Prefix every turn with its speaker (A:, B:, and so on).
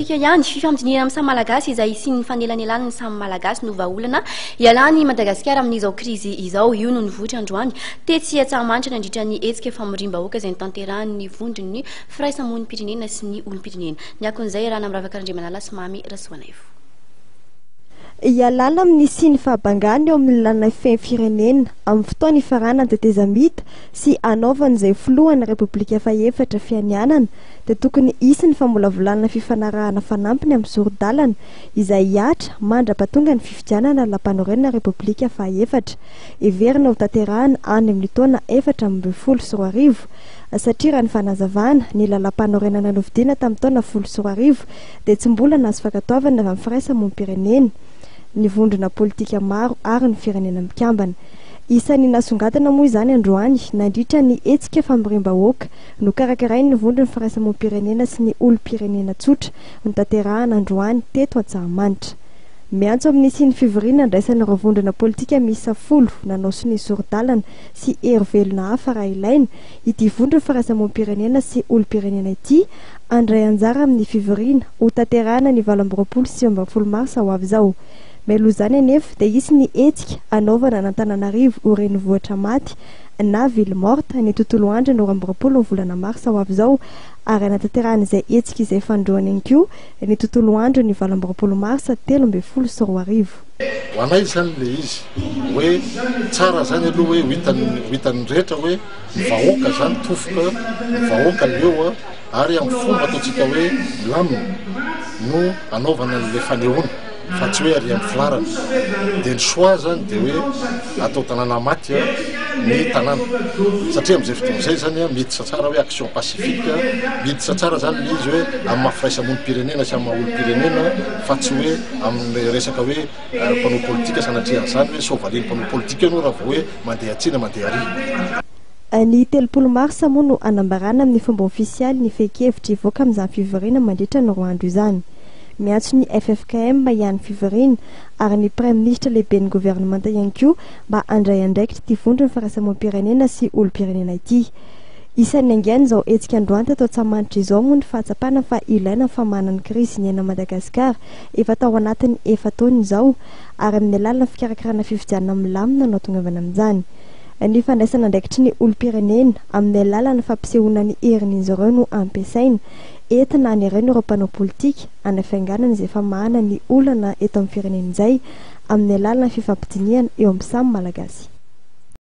A: Isika ihany, fifampidinihana amin'ny samy Malagasy izay hisian'ny fanelanelan'ny samy Malagasy no vahaolana hialan'i Madagasikara amin'izao krizy izao. Io no nivoitra androany tetsy Antsahamanitra nandritra ny hetsika famoriam-bahoaka izay notanterahan'ny vondron'ny firaisamonim-pirenena sy ny olom-pirenena. Ny akon'izay iarahana amin'i Ravaka Randriamanala sy Mamy Rasoanaivo.
B: Hialana amin'ny hisian'ny fahabangana eo amin'ny lalana feno firenena amin'ny fotoana hifaranan'ny tetezamita sy hanaovan'izay filohan'ny Repoblika fahefatra fianianana dia tokony hisy ny famolavolana fifanarahana fanampiny amin'ny sori-dalana izay hihatra mandra-pahatonga ny fifidianana lalàmpanorenana Repoblika fahaefatra heverina ho tanterahana any amin'ny taona 2014 satria raha ny fanazavana, ny lalàmpanorenana nofidiana tamin'ny taona 2010 dia tsy mbola nahazo fankatoavana avy amin'ny firaisamonim-pirenena, ny vondrona politika maro ary ny firenena mikambana. Isan'ny nasongadina moa izany androany nandritra ny hetsika famoriam-bahoaka Nokarakarain'ny Vondron'ny Firaisamonim-pirenena sy ny olom-pirenena tsotra notanterahana androany teto Antsahamanitra. Miantso amin'ny hisian'ny fivoriana andraisan'ireo vondrona politika miisa folo nanao sonia sori-dalana sy hery velona hafa raha ilaina ity Vondron'ny Firaisamonim-pirenena sy olom-pirenena ity handray anjara amin'ny fivoriana hotanterahana ny 28 sy 29 marsa ho avy izao. Mialoha izany anefa dia hisy ny hetsika hanaovana an'Antananarivo ho renivohitra maty na ville morte ny tontolo andro ny 22 ny volana marsa ho avy izao ary hanatanterahana izay hetsika izay fanindroany ihany koa ny tontolo andro ny 28 marsa 2013.
C: Ho anay izany ilay izy hoe tsara izany aloha hoe ho hitan'ny ho hitan'ny rehetra hoe ny vahoaka izany tofoka, ny vahoaka leo ary amin'ny fomba ataontsika hoe milamina no anaovana an'ilay fanehoana fa tsy hoe ary amin'ny filarana. Dia ny choix izany dia hoe atao tanàna maty ny tanàna satria amin'izay fotoana izay izany miditra tsara hoe action pacifique, miditra tsara izany ilay izy hoe amin'ny maha firaisamonim-pirenena sy amin'ny maha olom-pirenena fa tsy hoe amin'ny resaka hoe mpanao politika sanatria an'izany hoe sao valian'ny mpanao politika eo ianao raha vao hoe mandeha atsy na mandeha ary.
B: Ny 30 marsa moa no hanambarana amin'ny fomba ofisialy ny fehin-kevitra hivoaka amin'izany fivoriana mandritra ny roa andro izany. Miantso ny ffkm ihany fivoriana ary ny Praiminisitra lehiben'ny governemanta ihany koa mba handray andraikitra ity vondron'ny firaisamonim-pirenena sy olom-pirenena ity. Isan'ny niaingaina izao hetsika androany teto Antsahamanitra izao moa ny fahatsapana fa ilaina ny famahana ny krizy niainan'i Madagasikara efa tao anatin'ny efa-taona izao ary amin'ny alalan'ny fikarakarana fifidianana milamina no hahatongavana amin'izany. Ny fandraisana andraikitry ny olom-pirenena amin'ny alalan'ny fampisehoana ny herin'izy ireo no ampiasaina entina hanerena ireo mpanao politika hanafainganana izay famahana ny olana eto amin'ny firenena izay amin'ny alalan'ny fifampidinihana eo amin'ny samy Malagasy.